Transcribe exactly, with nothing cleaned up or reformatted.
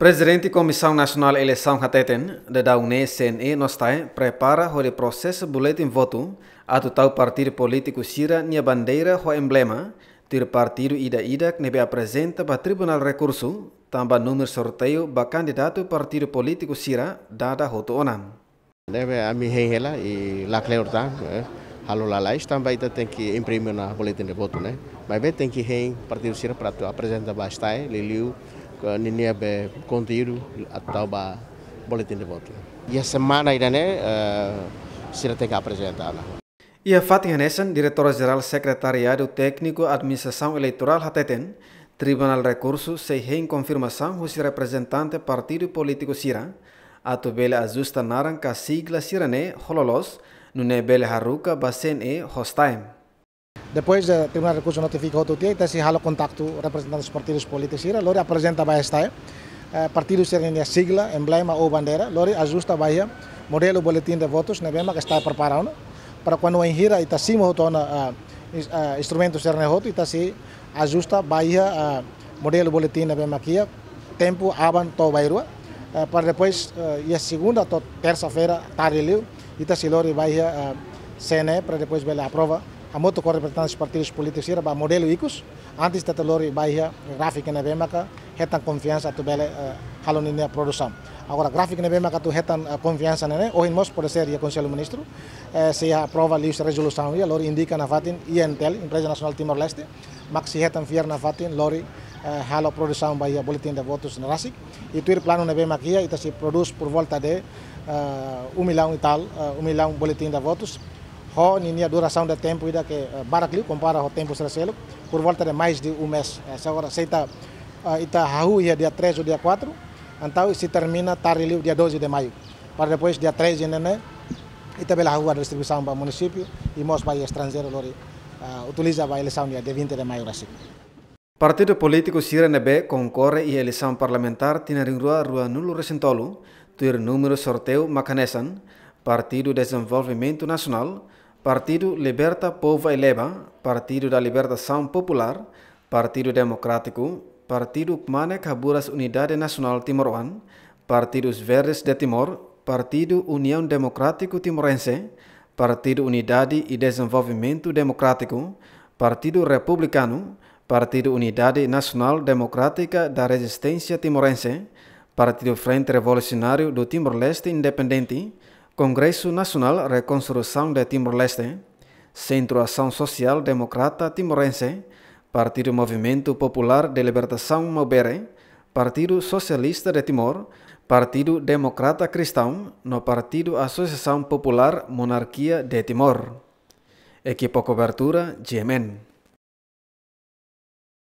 Prezidente Komisaun Nasionál Eleisaun hateten, daudaun ne'e C N E no STAE prepara hodi prosesa boletin votu, atu tau partidu polítiku sira-nia bandeira ho emblema, tuir partidu ida-idak ne'ebé aprezenta ba Tribunál Rekursu, tanba númeru sorteiu ba kandidatu partidu polítiku sira dada hotu ona. Ne'ebé ami hein hela i lakleur tan, eh, halo lalais tanba ita tenke imprime ona boletin de votu ne'e. Maibé tenke hein partidu sira para atu aprezenta ba STAE, liuliu ke ninia be konteúdu atu tau ba boletin de votu. Iha semana ida-ne'e, eh, sira tenke aprezenta ona. Iha fatin hanesan, Diretór Jerál Sekretariadu Tékniku Administrasaun Eleitorál hateten, Tribunál Rekursu sei hein konfirmasaun husi reprezentante partidu polítiku sira, atu bele ajusta naran ka sigla sira-ne'e ho loloos, nune'e bele haruka ba C N E ho STAE. Depois de Tribunál Rekursu notifika hotu tiha, ita sei halo kontaktu reprezentante partidus polítiku sira, lori aprezenta ba STAE, eh, partidu sira-nia sigla, emblema ou bandeira, lori ajusta ba iha modelu boletin de votus ne'ebé mak STAE prepara ona. Para kuandu wainhira ita simu hotu ona, eh, ins-, eh, instrumentu sira-ne'e hotu, ita sei ajusta ba iha, eh, modelu boletin ne'ebé mak iha, tempu aban to'o bainrua, eh, para depois, eh, iha segunda to'o tersa-feira tarde liu, ita sei lori ba iha, eh, C N E para depois bele aprova, hamutuk ho reprezentante partidus polítiku sira ba modelu ikus, antes ita lori ba iha gráfiku ne'ebé maka hetan konfiansa atu bele, eh, halo ninia produsaun. Agora gráfiku ne'ebé maka atu hetan, eh, konfiansa ne'e, ohin mós pode ser iha Konsellu Ministru, eh, sei aprova liuhusi rezolusaun iha, lori indika nafatin I N T L, Empreza Nasionál Timor-Leste, mak sei hetan fiar nafatin lori, eh, halo produsaun ba iha boletin de votus ne'e rasik. I tuir planu ne'ebé mak iha, ita sei prodús por volta de, eh, um milhão e tal, eh, um milhão boletin de votus. Ho ninia durasaun de tempu ida ke, eh, barak liu kompara ho tempu sira seluk, por volta de mais de um mês. Eh, se agora se ita, eh, ita hahú iha dia três ou dia quatro, entaun sei termina tarde liu dia doze de maio. Para depois dia treze ne'e, ita bele hahú halo distribuisaun ba munisípiu i mós ba estranjeiru lori, ah, utiliza ba eleisaun dia vinte de maio rasik. Partidu polítiku sira ne'ebé konkorre iha eleisaun parlamentár tinan rihun rua ruanulu resin tolu, tuir númeru sorteiu mak hanesan, Partidu Dezenvolvimentu Nasionál, Partidu Liberta Povu Aileba, Partidu da Libertasaun Populár, Partidu Demokrátiku, Partidu Kmanek Haburas Unidade Nasionál Timoroan, Partidu Os Verdes de Timor, Partidu Uniaun Demokrátiku Timorense, Partidu Unidade e Dezenvolvimentu Demokrátiku, Partidu Republikanu, Partidu Unidade Nasionál Demokrátika da Rezisténsia Timorense, Partidu Frente Revolusionáriu do Timor-Leste Independente, Kongresu Nasionál Rekonstrusaun de Timor-Leste, Sentru Asaun Sosiál Demokrata Timorense, Partidu Movimentu Populár de Libertasaun Maubere, Partidu Sosialista de Timor, Partidu Demokrata Kristaun, no Partidu Asosiasaun Populár Monarkia de Timor. Ekipa kobertura, G M N.